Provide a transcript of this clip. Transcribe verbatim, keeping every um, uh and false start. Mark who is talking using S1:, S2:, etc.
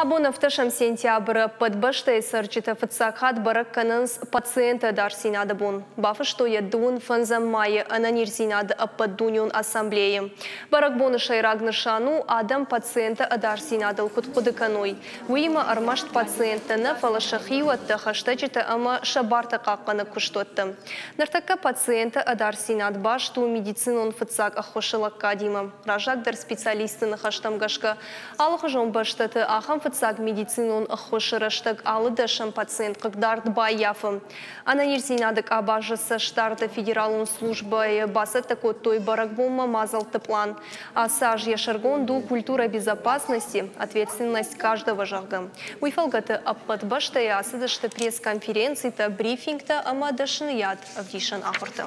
S1: Абон, ӕвддӕсӕм сентябры, ӕппӕт бӕстӕйы цӕрджытӕ фыццаг хатт бӕрӕг кӕнынц пациенты ӕдасдзинады бон. Бафыстой йӕ дыууын фӕндзӕм майы ӕнӕниздзинады ӕппӕтдунеон ассамблейы. Бӕрӕгбоны сӕйраг нысан у, адӕм пациенты ӕдасдзинадыл куыд хъуыды кӕной. Уыимӕ ӕрмӕст пациенттӕ нӕ, фӕлӕ сӕ хиуӕттӕ, хӕстӕджытӕ ӕмӕ сӕ бартӕ хъахъхъӕнӕг куыстуӕттӕ. Ныртӕккӕ пациенты ӕдасдзинад баст у медицинон фыццаг ӕххуысы лӕггадимӕ. Раззагдӕр специалистты ныхӕстӕм гӕсгӕ, алыхуызон бӕстӕты ахӕм фыццаг медицинон ӕххуысы рӕстӕг алы дӕсӕм пациент хъыгдард баййафы. Ӕнӕниздзинады къабазы цӕстдарды федералон службӕйы бацӕттӕ кодтой бӕрӕгбонмӕ мадзӕлтты пълан. Ацы аз йӕ сӕргонд у «Культура безопасности. Ответственность каждого», зӕгъгӕ. Уый фӕлгӕты ӕппӕт бӕстӕйы ацыдысты пресс-конференцитӕ, брифингтӕ ӕмӕ дӕсныйад ӕвдисӕн ахуыртӕ.